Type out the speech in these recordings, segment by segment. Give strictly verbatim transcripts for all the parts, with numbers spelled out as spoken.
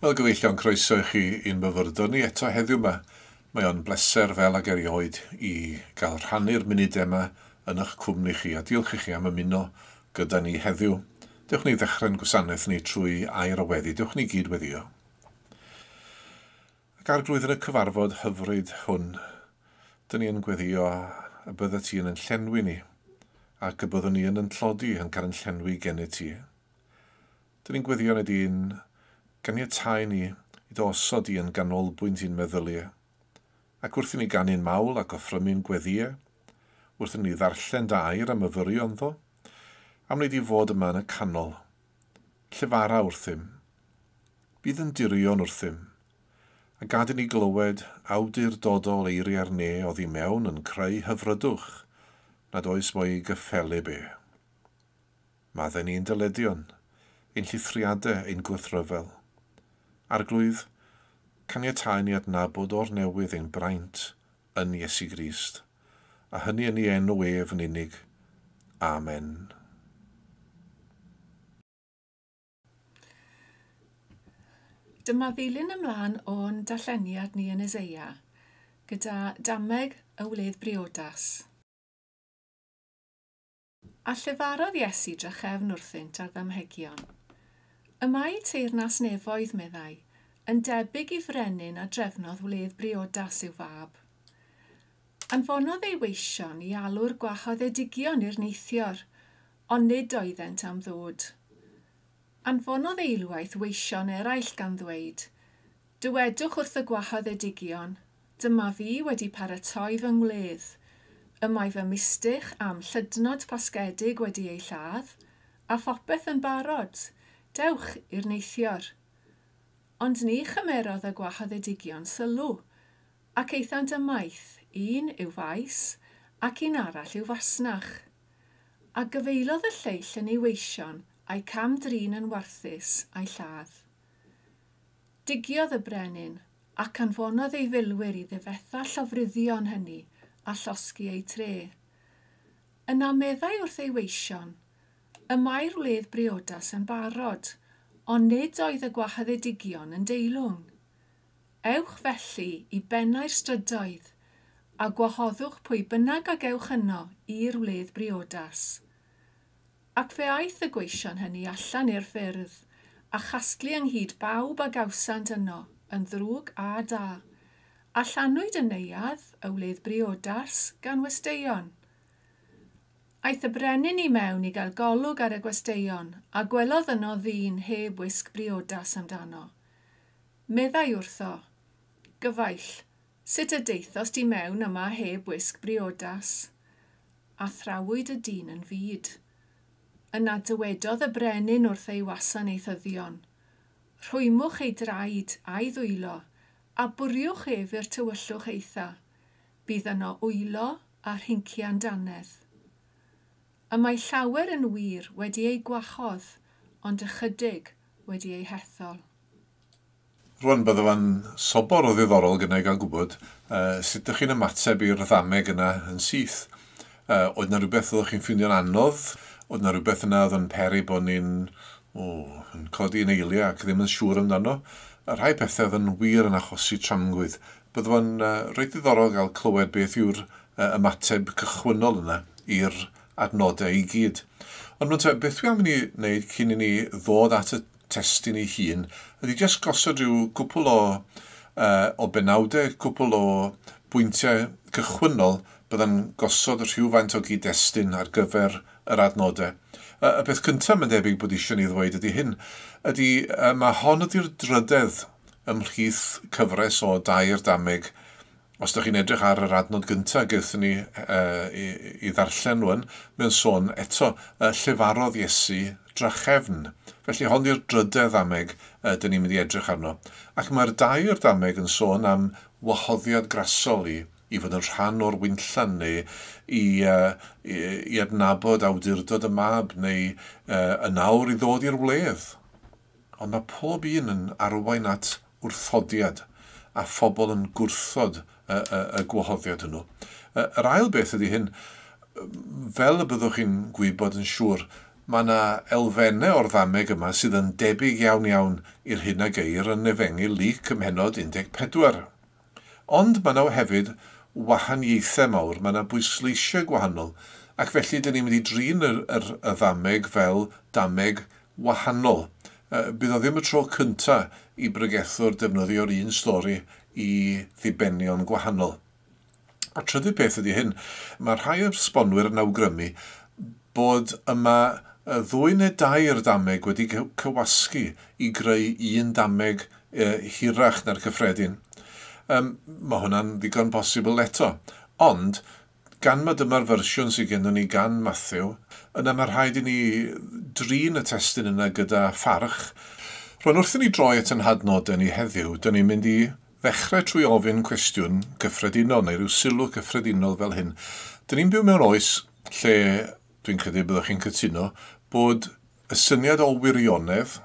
Wel, gyfeillion, croeso i chi i'n myfyrdod ni eto heddiw yma. Mae o'n bleser fel ag erioed i gael rhannu'r munudau yma yn eich cwmni chi, a diolch i chi am ymuno gyda ni heddiw. Dewch ni ddechrau'n gwasanaeth ni trwy air o weddi. Dewch ni gyd weddio. Ac Arglwydd, yn y cyfarfod hyfryd hwn, dyn ni yn gweddio y byddet ti yn yn llenwi ni, ac y byddwn ni yn yn tlodi yn cael yn llenwi gennyt ti. Dyn ni'n gweddio yn y dyn ganiatáu ni i dy osod i yn ganolbwynt i'n meddyliau, ac wrth i ni ganu'n mawl ac offrymu'n gweddiau, wrth i ni ddarllen dy air a myfyrio ynddo, am wneud i fod yma yn y canol. Llefara wrthym, bydd yn dirion wrthym, a gad i ni glywed awdurdodol eiriau'r ne oddi mewn yn creu hyfrydwch nad oes mo'i gyffelyb e. Maddau ni'n dyledion, ein llithriadau, ein gwrthryfel. Arglwydd, caniatáu ni adnabod o'r newydd ein braint yn Iesu Grist, a hynny yn ei enw ef yn unig. Amen. Dyma ddilyn ymlaen o'n darlleniad ni yn Eseia, gyda dameg y wledd briodas. A llefarodd Iesu drachefn wrthynt ar ddamhegion. Y mae teyrnas nefoedd, meddai, yn debyg i frenin a drefnodd wledd briodas i'w fab. Anfonodd ei weision i alw'r gwahoddedigion i'r neithior, ond nid oeddent am ddod. Anfonodd eilwaith weision eraill gan ddweud, dywedwch wrth y gwahoddedigion, dyma fi wedi paratoi fy ngwledd. Y mae fy mistych am llydnod pasgedig wedi ei lladd, a phopeth yn barod. Dewch i'r neithior. Ond ni chymerodd y gwahoddedigion sylw, ac aethant ymaith, un i'w faes ac un arall i'w fasnach. A gyfeilodd y lleill yn ei weision a'i cam-drin yn warthus a'i lladd. Digiodd y brenin ac anfonodd ei filwyr i ddifetha llofruddion hynny a llosgi eu tre. Yna meddai wrth ei weision, y mae'r wledd briodas yn barod, ond nid oedd y gwahoddedigion yn deilwng. Ewch felly i bennau'r strydoedd, a gwahoddwch pwy bynnag a gewch yno i'r wledd briodas. Ac fe aeth y gweision hynny allan i'r ffyrdd, a chasglu ynghyd bawb a gawsant yno, yn ddrwg a da, a llanwyd y neuadd, y wledd briodas, gan westeion. Aeth y brenin i mewn i gael golwg ar y gwesteion, a gwelodd yno ddyn heb wisg briodas amdano. Meddai wrtho, gyfaill, sut y deithost i mewn yma heb wisg briodas? A thrawyd y dyn yn fud. Yna dywedodd y brenin wrth ei wasanaethyddion, rhwymwch ei draed a'i ddwylo, a bwriwch ef i'r tywyllwch eitha. Bydd yno wylo a rhincian dannedd. Y mae llawer yn wir wedi ei gwahodd, ond ychydig wedi ei hethol. Rwan, bydde fo'n sobor o ddiddorol gyda i gael gwybod uh, sut ydych chi'n ymateb i'r ddameg yna yn syth. Uh, oedd yna rhywbeth oeddech chi'n ffeindio'n anodd? Oedd yna rhywbeth yna oedd yn peri bod ni'n oh, yn codi yn eiliau ac ddim yn siŵr amdano? A rhai pethau oedd yn wir yn achosi tramgwydd. Bydde fo'n uh, reit ddiddorol gael clywed beth yw'r uh, ymateb cychwynnol yna i'r adnodau i gyd. Ond rwan te, beth dwi am i ni wneud cyn i ni ddod at y testun ei hun, ydy jyst gosod rhyw cwpl o, uh, o benawdau, cwpl o bwyntiau cychwynnol bydda'n gosod rhywfaint o gyd-destun ar gyfer yr adnodau. Uh, y peth cyntaf mae'n debyg bod eisiau ni ddweud ydy hyn, ydy uh, mae hon ydy'r drydedd ymhlith cyfres o dair dameg. Os ydych chi'n edrych ar yr adnod gyntaf gaethon ni uh, i, i ddarllen rwan, mae'n sôn eto uh, llefarodd Iesu drachefn. Felly hon yw'r drydedd ddameg uh, dyn ni'n mynd i edrych arno. Ac mae'r dair dameg yn sôn am wahoddiad grasol i, i fod yn rhan o'r winllan neu i, uh, i, i adnabod awdurdod y mab neu uh, yn awr i ddod i'r wledd. Ond mae pob un yn arwain at wrthodiad a phobl yn gwrthod y, y, y gwahoddiad hwnnw. Yr ail beth ydy hyn, fel y byddwch chi'n gwybod yn siŵr, mae yna elfennau o'r ddameg yma sydd yn debyg iawn iawn i'r hyn a geir yn Efengyl Luc ym mhennod un deg pedwar. Ond mae yna hefyd wahaniaethau mawr, mae yna bwysleisiau gwahanol, ac felly dyn ni'n mynd i drin yr, yr, y ddameg fel dameg wahanol. Bydd o ddim y tro cyntaf i bregethwr defnyddio'r un stori i ddibenion gwahanol. A trydydd peth ydy hyn, mae rhai esbonwyr yn awgrymu bod yma ddwy neu dair dameg wedi cywasgu i greu un dameg hirach na'r cyffredin. Um, mae hwnna'n ddigon posibl eto. Ond, gan mae dyma'r fersiwn sydd gennym ni gan Matthew, yna mae rhaid i ni drin y testun yna gyda pharch. Rwan, wrth i ni droi at ein hadnodau ni heddiw, dyn ni'n mynd i ddechrau trwy ofyn cwestiwn cyffredinol neu rhyw sylw cyffredinol fel hyn. Dyn ni'n byw mewn oes lle, dwi'n credu byddwch chi'n cytuno, bod y syniad o wirionedd,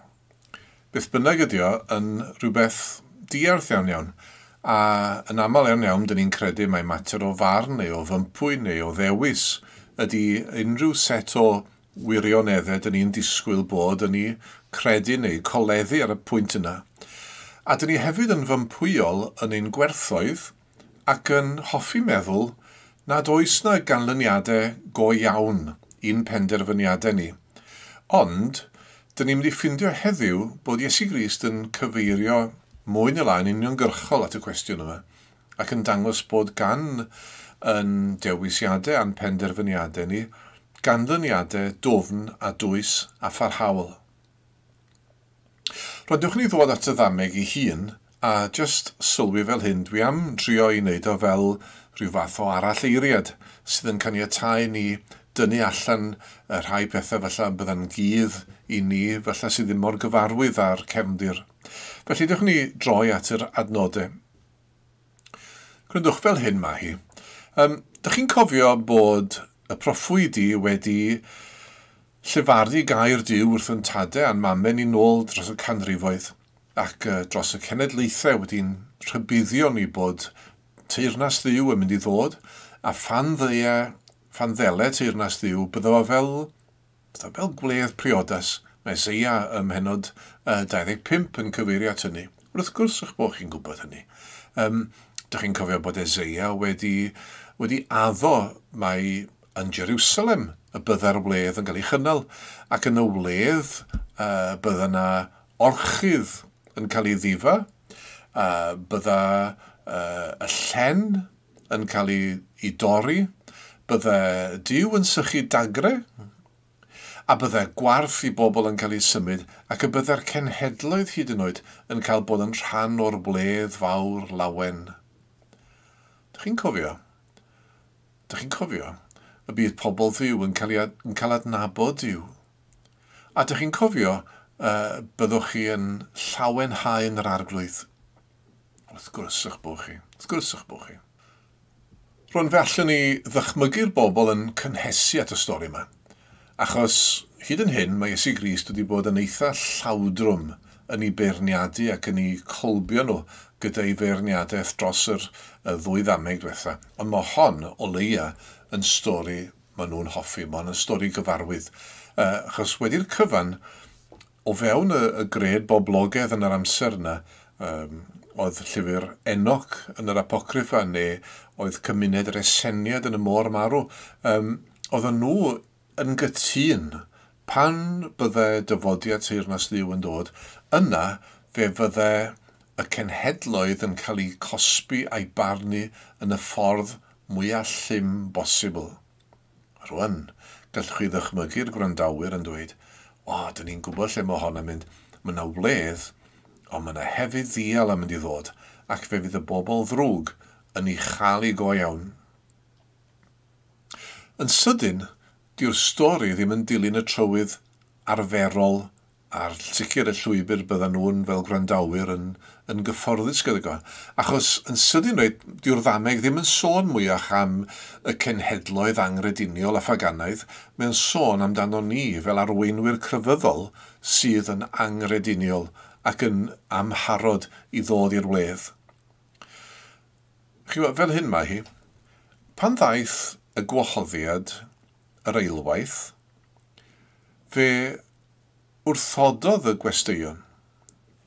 beth bynnag ydi o, yn rhywbeth diarth iawn iawn. A yn aml iawn iawn, dyn ni'n credu mai mater o farn neu o fympwy neu o ddewis ydy unrhyw set o wirioneddau dyn ni'n disgwyl bod yn ei credu neu coleddu ar y pwynt yna. A dyn ni hefyd yn fympwyol yn ein gwerthoedd ac yn hoffi meddwl nad oes na ganlyniadau go iawn i'n penderfyniadau ni. Ond, dyn ni'n mynd i ffindio heddiw bod Iesu Grist yn cyfeirio mwy neu lai'n uniongyrchol at y cwestiwn yma, ac yn dangos bod gan yn dewisiadau a'n penderfyniadau ni ganlyniadau dwfn a dwys a pharhaol. Rwan, dewch ni ddod at y ddameg ei hun, a just sylwi fel hyn, dwi am drio i wneud o fel rhyw fath o aralleiriad sydd yn caniatáu ni dynnu allan y rhai pethau falle bydda'n gudd i ni, falle sydd ddim mor gyfarwydd â'r cefndir. Felly, dewch ni droi at yr adnodau. Gwrandwch, fel hyn mae hi. Um, dych chi'n cofio bod y proffwydi wedi llefaru gair Duw wrth yn tadau a'n mamau ni nôl dros y canrifoedd ac uh, dros y cenedlaethau wedi'n rhybuddio ni bod teyrnas Dduw yn mynd i ddod, a phan ddeia, phan ddele teyrnas Dduw, bydda fo fel, bydda fel gwledd priodas. Mae Eseia ym mhennod uh, dau ddeg pump yn cyfeirio at hynny. Wrth gwrs eich bod chi'n gwybod hynny. Um, dych chi'n cofio bod Eseia wedi, wedi addo mai yn Jerusalem y bydda'r wledd yn cael ei chynnal, ac yn y wledd uh, bydda yna orchudd yn cael ei ddifa, uh, bydda uh, y llen yn cael ei, ei dorri, bydda Duw yn sychu dagre, a bydda gwarth i bobl yn cael ei symud, ac y bydda'r cenhedloedd hyd yn oed yn cael bod yn rhan o'r wledd fawr lawen. Dych chi'n cofio? Dych chi'n cofio? Y bydd pobl Dduw yn cael, ei, yn cael adnabod Duw. A dych chi'n cofio uh, byddwch chi yn llawenhau yn yr Arglwydd. Wrth gwrs eich bod chi. Wrth gwrs eich bod chi. Rwan, fe allwn ni ddychmygu'r bobl yn cynhesu at y stori yma. Achos hyd yn hyn mae Iesu Grist wedi bod yn eitha llawdrwm yn ei beirniadu ac yn ei colbio nhw gyda'i feirniadaeth dros yr, y ddwy ddameg diwetha. Ond mae hon o leia yn stori maen nhw'n hoffi, mae hon yn stori gyfarwydd. Uh, achos wedi'r cyfan, o fewn y, y gred boblogaidd yn yr amser yna, um, oedd llyfr Enoch yn yr Apocryffa, neu oedd cymuned yr Eseniad yn y môr marw, um, oedden nhw yn gytûn pan bydde dyfodiad teyrnas Dduw yn dod, yna fe fydde y cenhedloedd yn cael eu cosbi a'i barnu yn y ffordd mwyaf llym bosibl. Rwan, gallwch chi ddychmygu'r gwrandawyr yn dweud, o, dyn ni'n gwybod lle mae hon yn mynd. Mae yna wledd, ond mae yna hefyd ddial yn mynd i ddod, ac fe fydd y bobl ddrwg yn ei chael ei go iawn. Yn sydyn, dyw'r stori ddim yn dilyn y trywydd arferol a'r sicr y llwybr byddan nhw'n fel gwrandawyr yn, yn gyfforddus gyda go. Achos yn sydyn reit, dyw'r ddameg ddim yn sôn mwyach am y cenhedloedd anghrediniol a phaganaidd, mae'n sôn amdano ni fel arweinwyr crefyddol sydd yn anghrediniol ac yn amharod i ddod i'r wledd. Chi'n gwybod, fel hyn mae hi, pan ddaeth y gwahoddiad yr eilwaith, Fe wrthododd y gwesteion.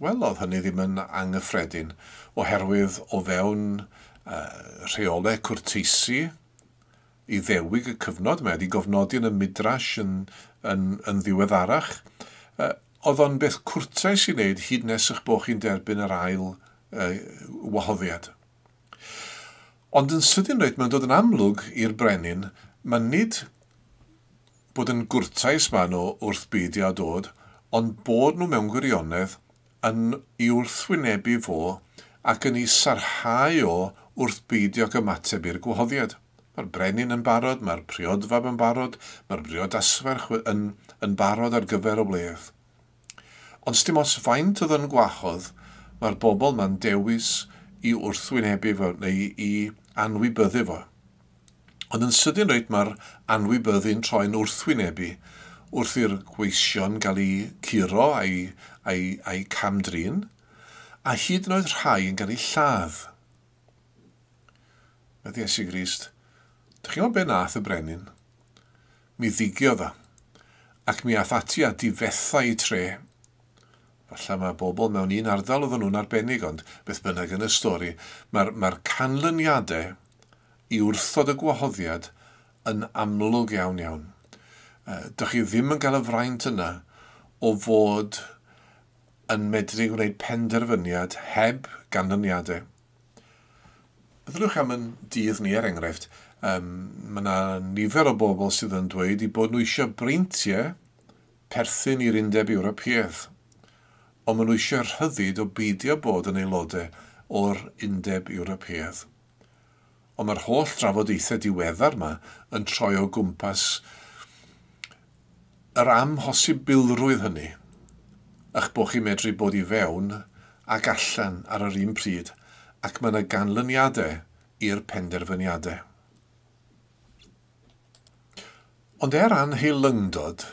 Wel, oedd hynny ddim yn anghyffredin, oherwydd o fewn uh, rheolau cwrteisi Iddewig y cyfnod, mae wedi gofnodi yn y Midrash yn, yn, yn ddiweddarach. Uh, oedd o'n beth cwrtais i wneud hyd nes eich bod chi'n derbyn yr ail uh, wahoddiad. Ond yn sydyn reit, mae'n dod yn amlwg i'r brenin, mae nid bod yn gwrtais maen nhw wrth beidio â dod, ond bod nhw mewn gwirionedd yn ei wrthwynebu fo ac yn ei sarhau o wrth beidio ag ymateb i'r gwahoddiad. Mae'r brenin yn barod, mae'r priodfab yn barod, mae'r briodasferch yn, yn barod ar gyfer y wledd. Ond sdim ots faint oedd yn gwahodd, mae'r bobl ma'n dewis i wrthwynebu fo neu i anwybyddu fo. Ond yn sydyn reit mae'r anwybyddu'n troi'n wrthwynebu wrth i'r gweision gael eu curo a'i, a'i, a'i camdrin, a hyd yn oed rhai yn cael eu lladd. Medd Iesu Grist, dych chi'n gwybod be nath y brenin? Mi ddigiodd o, ac mi ath ati a difetha i tre. Falle mae bobl mewn un ardal oedden nhw'n arbennig, ond beth bynnag yn y stori, mae'r mae canlyniadau i wrthod y gwahoddiad yn amlwg iawn iawn. Dych chi ddim yn cael y fraint yna o fod yn medru gwneud penderfyniad heb ganlyniadau. Byddwch am yn dydd ni er enghraifft, um, mae yna nifer o bobl sydd yn dweud i bod nhw eisiau breintiau perthyn i'r Undeb Ewropeaidd, ond maen nhw eisiau rhyddid o beidio bod yn aelodau o'r Undeb Ewropeaidd. Ond mae'r holl drafodaethau diweddar yma yn troi o gwmpas yr amhosibilrwydd hynny, eich bod chi'n medru bod i fewn ac allan ar yr un pryd, ac mae yna ganlyniadau i'r penderfyniadau. Ond er anheilyngdod,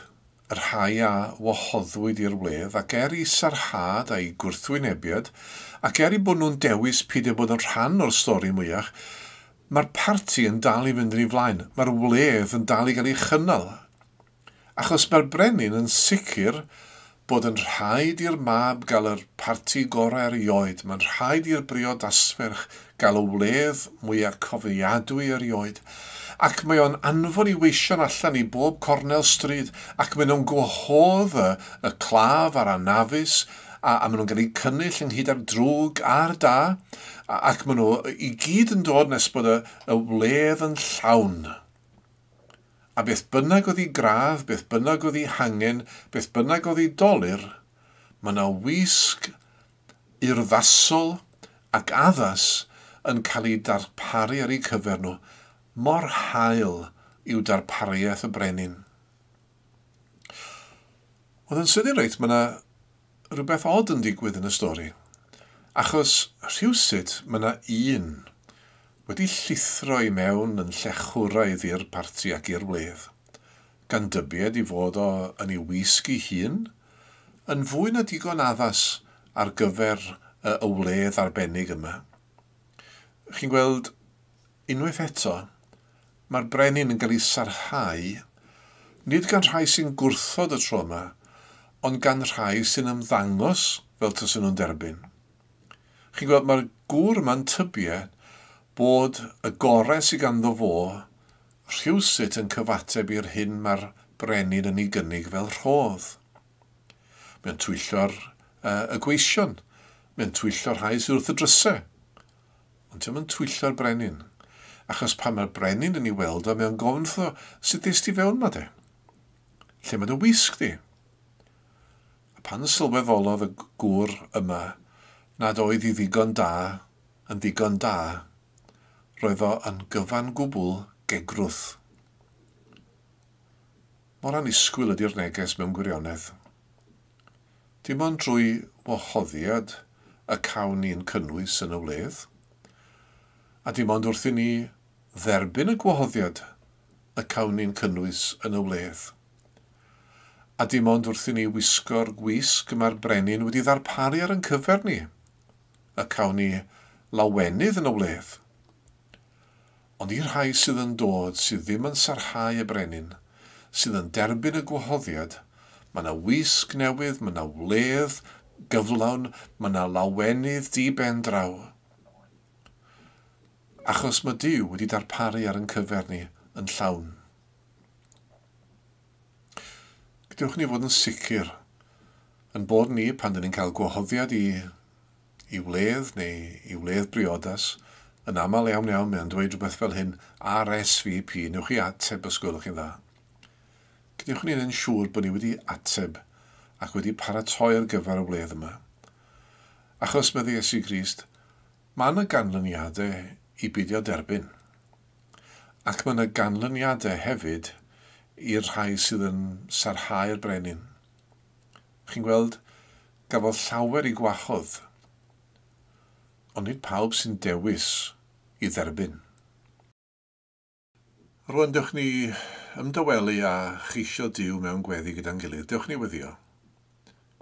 y rhai a wahoddwyd i'r wledd, ac er i sarhad a'i gwrthwynebiad, ac er i bod nhw'n dewis peidio bod yn rhan o'r stori mwyach, mae'r parti yn dal i fynd yn ei flaen, mae'r wledd yn dal i gael ei chynnal. Achos mae'r brenin yn sicr bod yn rhaid i'r mab gael yr parti gorau erioed. Mae'n rhaid i'r briodasferch gael y wledd mwyaf cofiadwy erioed. Ac mae o'n anfon i weision allan i bob cornel stryd, ac maen nhw'n gwahodd y, y claf a'r anafus, a, a maen nhw'n cael eu cynnull ynghyd â'r drwg a'r da, a, ac maen nhw i gyd yn dod nes bod y, y wledd yn llawn. A beth bynnag oedd ei gradd, beth bynnag oedd ei hangen, beth bynnag oedd ei dolur, mae yna wisg urddasol ac addas yn cael ei darparu ar eu cyfer nhw. Mor hael yw darpariaeth y brenin. Ond yn sydyn reit, mae yna rhywbeth od yn digwydd yn y stori. Achos rhywsut mae yna un wedi llithro i mewn yn llechwraidd i'r parti ac i'r wledd, gan dybied i fod o yn ei wisg ei hun, yn fwy na digon addas ar gyfer y, y wledd arbennig yma. Chi'n gweld, unwaith eto, mae'r brenin yn cael ei sarhau, nid gan rhai sy'n gwrthod y tro yma, ond gan rhai sy'n ymddangos fel tasen nhw'n derbyn. Chi'n gweld, mae'r gŵr yma'n tybied bod y gorau sydd ganddo fo rhywsut yn cyfateb i'r hyn mae'r brenin yn ei gynnig fel rhodd. Mae'n twyllo'r uh, y gweision, mae'n twyllo'r rhai sydd wrth y drysau, ond dio'm yn twyllo'r brenin, achos pan mae'r brenin yn ei weld o, mae'n gofyn wrtho, sut ddest ti fewn ma de? Lle mae dy wisg di? A pan sylweddolodd y gŵr yma nad oedd i ddigon da yn ddigon da, roedd o yn gyfan gwbl gegrwth. Mor annisgwyl ydy'r neges mewn gwirionedd. Dim ond drwy wahoddiad y cawn ni'n cynnwys yn y wledd, a dim ond wrth i ni dderbyn y gwahoddiad y cawn ni'n cynnwys yn y wledd. A dim ond wrth i ni wisgo'r gwisg mae'r brenin wedi ddarparu ar ein cyfer ni, y cawn ni lawenydd yn y wledd. Ond i'r rhai sydd yn dod, sydd ddim yn sarhau y brenin, sydd yn derbyn y gwahoddiad, Mae yna wisg newydd, mae yna wledd gyflawn, mae yna lawenydd di ben draw. Achos mae Duw wedi darparu ar ein cyfer ni yn llawn. Gadewch ni fod yn sicr yn bod ni pan dyn ni'n cael gwahoddiad i, i wledd neu i wledd briodas, yn aml iawn iawn mae'n dweud rhywbeth fel hyn, R S V P, newch chi ateb os gwelwch chi'n dda. Gadewch ni yn siŵr bod ni wedi ateb ac wedi paratoi ar gyfer y wledd yma. Achos medde Iesu Grist, mae yna ganlyniadau i beidio derbyn. Ac mae yna ganlyniadau hefyd i'r rhai sydd yn sarhau'r brenin. Chi'n gweld, gafodd llawer i gwahodd, ond nid pawb sy'n dewis i dderbyn. Rwan, dewch ni ymdawelu a cheisio Duw mewn gweddi gyda'n gilydd. Dewch ni weddio.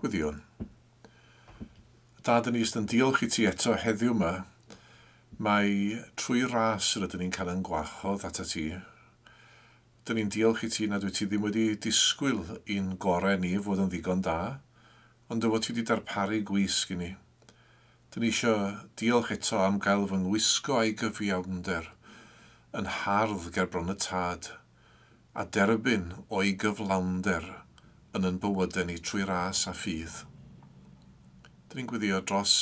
Gweddiwn. Dad, yn ni yn diolch i ti eto heddiw yma. Mae trwy ras rydyn ni'n cael yn gwahodd atat ti. Dyn ni'n diolch i ti nad wyt ti ddim wedi disgwyl i'n gorau ni fod yn ddigon da, ond dy fod ti wedi darparu gwisg i ni. Dyn ni eisiau diolch eto am gael fy ngwisgo a'i gyfiawnder yn hardd ger bron y Tad, a derbyn o'i gyflawnder yn yn bywydau ni trwy ras a ffydd. Dyn ni'n gweddio dros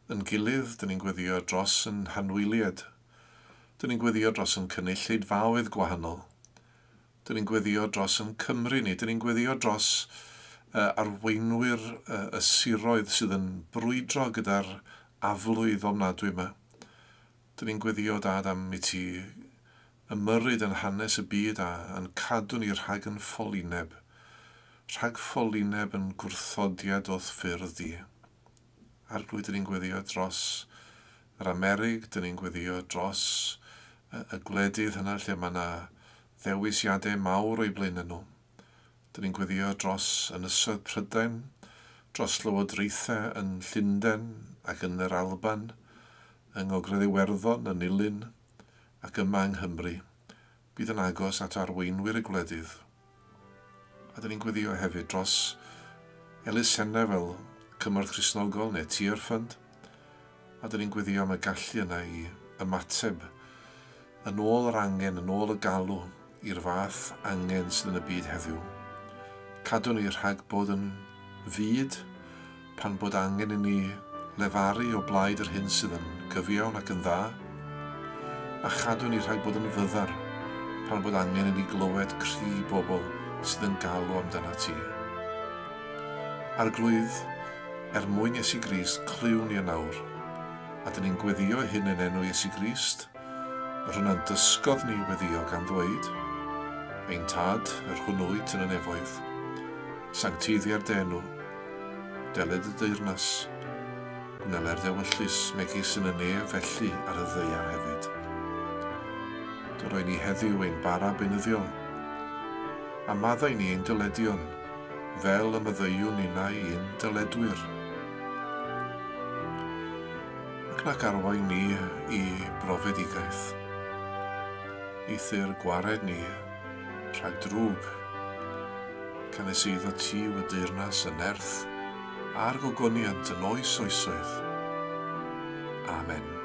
yn gilydd, dyn ni'n gweddio dros yn hanwyliad, dyn ni'n gweddio dros yn cynulleidfaoedd gwahanol, dyn ni'n gweddio dros yn Cymru ni, dyn ni'n gweddio dros uh, arweinwyr uh, y siroedd sydd yn brwydro gyda'r aflwydd ofnadwy yma. Dyn ni'n gweddio, Dad, am i ti ymyrryd yn hanes y byd a yn cadw ni rhag yn ffolineb, rhag ffolineb yn gwrthodiad o'th ffyrdd di. Arglwydd, dyn ni'n gweddio dros yr Amerig, dyn ni'n gweddio dros y, y gwledydd hynna lle mae yna ddewisiadau mawr o'i blaenau nhw. Dyn ni'n gweddio dros Ynysoedd Prydain, dros lywodraethau yn Llundain ac yn yr Alban, yng Ngogledd Iwerddon, yn Nulyn ac yma yng Nghymru. Bydd yn agos at arweinwyr y gwledydd. A dyn ni'n gweddio hefyd dros elusennau fel Cymorth Cristnogol neu Tear Fund. A dyn ni'n gweddio am y gallu yna i ymateb yn ôl yr angen, yn ôl y galw i'r fath angen sydd yn y byd heddiw. Cadw ni rhag bod yn fud pan bod angen i ni lefaru o blaid yr hyn sydd yn gyfiawn ac yn dda, a chadw ni rhag bod yn fyddar pan bod angen i ni glywed cri bobl sydd yn galw amdana ti. Arglwydd, er mwyn Iesu Grist, clyw ni yn awr, a dyn ni'n gweddio hyn yn enw Iesu Grist, yr hwnna'n dysgodd ni weddio gan ddweud, Ein Tad, yr hwn wyt yn y nefoedd, sancteiddier dy enw, deled y deyrnas, gwneler dy ewyllys megis yn y nef felly ar y ddaear hefyd. Dy roi ni heddiw ein bara beunyddiol, a maddau ni ein dyledion, fel y maddeuwn ninnau ein dyledwyr. Ac nac arwain ni i brofedigaeth, eithr gwared ni rhag drwg, canys eiddo ti yw y deyrnas, y nerth a'r gogoniant yn oes oesoedd. Amen.